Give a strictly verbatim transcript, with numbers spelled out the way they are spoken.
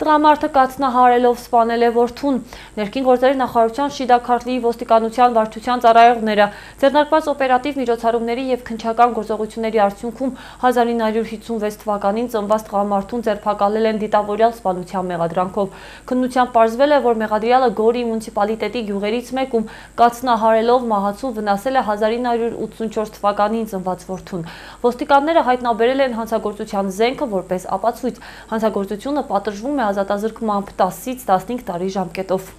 Տղամարդը կաթնահարելով սպանել է որդուն։ Ներքին գործերի նախարարության Շիդա Քարլիի ոստիկանության վարչության ծառայողները ձեռնարկված օպերատիվ միջոցառումների և քննչական գործողությունների արդյունքում հազար ինը հարյուր հիսունվեց թվականին ծնված տղամարդուն ձերբակալել են դիտավորյալ սպանության մեղադրանքով։ Քննությամբ պարզվել է, որ մեղադրյալը Գորի մունիցիպալիտետի գյուղերից մեկում կաթնահարելով մահացու վնասել է հազար ինը հարյուր ութսունչորս թվականին ծնված որդուն։ Ոստիկանները հայտնաբերել են հանցագործության զենքը որպես ապացույց։ Հանցագործությունը պատժվում է ազատազրկմամբ տասից տասնհինգ տարի ժամկետով։